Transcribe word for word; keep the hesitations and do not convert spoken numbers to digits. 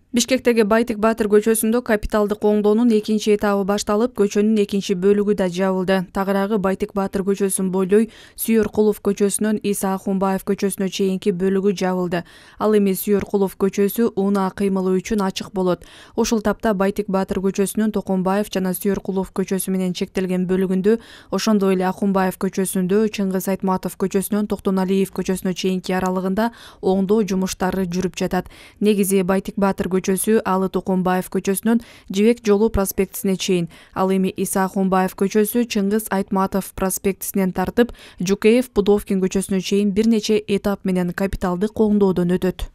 Бишкектеги Байтик Баатыр көчөсүндө капиталдык оңдоонун экинчи этабы башталып, көчөнүн экинчи бөлүгү да жабылды. Тагыраагы Байтик Баатыр көчөсүн бойлой Сүйөркулов көчөсүнөн Иса Ахунбаев көчөсүнө чейинки бөлүгү жабылды. Ал эми Сүйөркулов көчөсү унаа кыймылы үчүн ачык болот. Ушул тапта Байтик Баатыр көчөсүнүн Токомбаев жана Сүйөркулов көчөсү менен чектелген бөлүгүндө, ошондой эле Ахунбаев көчөсүндө Чыңгыз Айтматов көчөсүнөн Токтоналиев көчөсүнө чейинки аралыгында оңдоо жумуштары жүрүп жатат. Негизи Байтик Баатыр көчөсү Алы Токомбаев көчөсүнөн Жибек жолу проспектисине чейин, ал эми Иса Ахунбаев көчөсү Чыңгыз Айтматов проспектисинен тартып, Жукеев Пудовкин көчөсүнө чейин бир нече этап менен капиталдык оңдоодон өтөт.